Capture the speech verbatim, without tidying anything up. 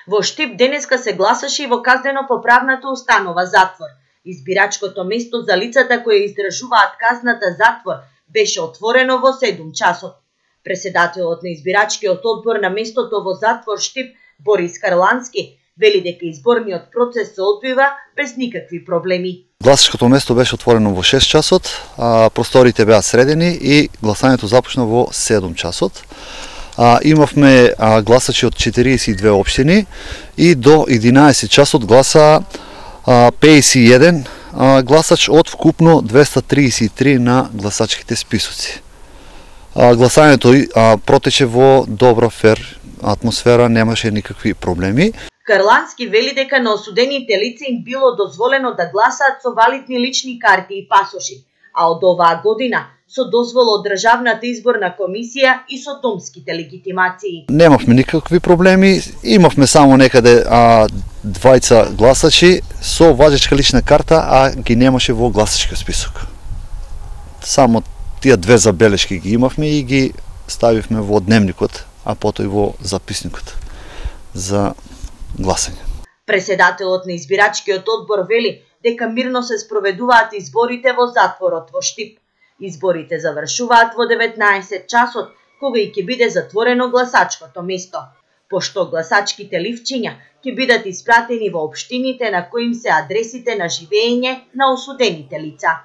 Во Штип денеска се гласаше и во казнено-поправната установа затвор. Избирачкото место за лицата кои издржуваат казната затвор беше отворено во седум часот. Преседателот на избирачкиот одбор на местото во затвор Штип, Борис Карлански, вели дека изборниот процес се одвива без никакви проблеми. Гласачкото место беше отворено во шест часот, а просториите беа средени и гласањето започна во седум часот. А, имавме а, гласачи од четириесет и две општини и до единаесет часот гласа а, пеесет и еден а, гласач од вкупно двеста триесет и три на гласачките списоци. А, гласањето а, протече во добра фер атмосфера, немаше никакви проблеми. Карлански вели дека на осудените лица им било дозволено да гласаат со валидни лични карти и пасоши, а од оваа година со дозвола од Државната изборна комисија и со домските легитимации. Немавме никакви проблеми, имавме само некаде а, двајца гласачи со важечка лична карта, а ги немаше во гласачкиот список. Само тие две забелешки ги имавме и ги ставивме во дневникот, а потоа и во записникот за гласање. Преседателот на избирачкиот одбор вели дека мирно се спроведуваат изборите во затворот во Штип. Изборите завршуваат во деветнаесет часот, кога и ќе биде затворено гласачкото место, пошто гласачките ливчиња ќе бидат испратени во општините на кои им се адресите на живење на осудените лица.